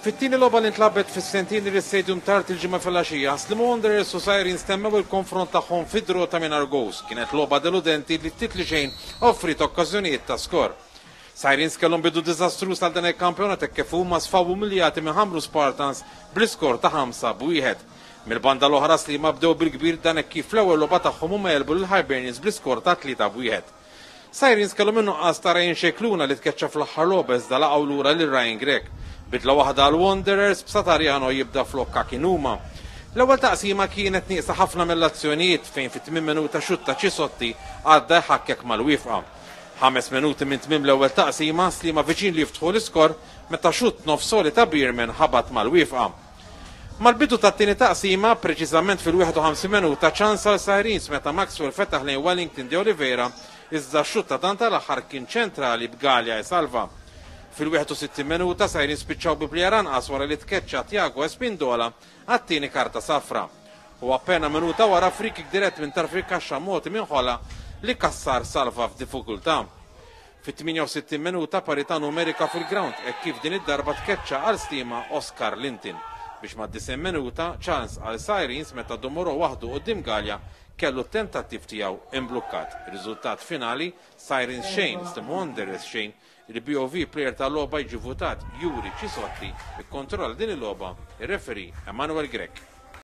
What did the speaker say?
Fit-tieni logħba li ntlagħbet fis-Centenary Stadium tard il-Ġimgħa filgħaxija, Sliema Wanderers u Sirens temmew il-konfront tagħhom fi draw ta' mingħajr goals. Kienet logħba deludenti li ftit li xejn offriet okkażjonijiet ta' skor. Sirens kellhom bidu diżastruż għal dan il-kampjonat hekk kif huma sfaw umiljati minn Ħamrun Spartans bl-iskor ta' 5-1. Mill-banda l-oħra Sliema bdew bil-kbir dan hekk kif fl-ewwel logħba tagħhom huma għelbu lil Hibernians bl-iskor ta' 3-1. Sirens kellhom in-nuqqas ta' Ryan Scicluna li tkeċċa fl-aħħar logħba iżda laqgħu lura lil Ryan Grech. Bidla waħda għal Wanderers b'Satariano jibda flok Kakinuma. L-ewwel taqsima kienet nieqsa ħafna mill-azzjonijiet fejn fit-tmien minuta xutt ta' Cisotti għadda jħakkek mal-wifqa. Ħames minuti minn tmiem l-ewwel taqsima, Sliema viċin li jiftħu l-iskor meta xutt nofs għoli ta' Bierman ħabat mal-wifqa. Mal-bidu tat-tieni taqsima, preċiżament fil-51 minuta, ċans għal Sirens meta Maxwell fetaħ lejn Wellington de Oliveira iżda x-xutt ta' dan tal-aħħar kien ċentrali b'Galea jsalva. Fil-61 minuta, Sirens spiċċaw bi plejer anqas wara li tkeċċa Thiago Espindola għat-tieni karta safra. U appena minuta wara free-kick dirett minn tarf il-kaxxa mogħti minn Ħola li Cassar salva f'diffikultà. Fit-68 minuta parità numerika fil-grawnd hekk kif din id-darba tkeċċa għal Sliema Oscar Linton biex mad-90 minuta ċans għal Sirens meta Dumuro waħdu quddiem Galea kellu t-tentattiv tiegħu imblukkat. Riżultat finali, Sirens xejn, Sliema Wanderers xejn. Il-BOV Player tal-logħba jiġi votat Yuri Cisotti, ikkontrolla din il-logħba ir-referee Emanuel Grech.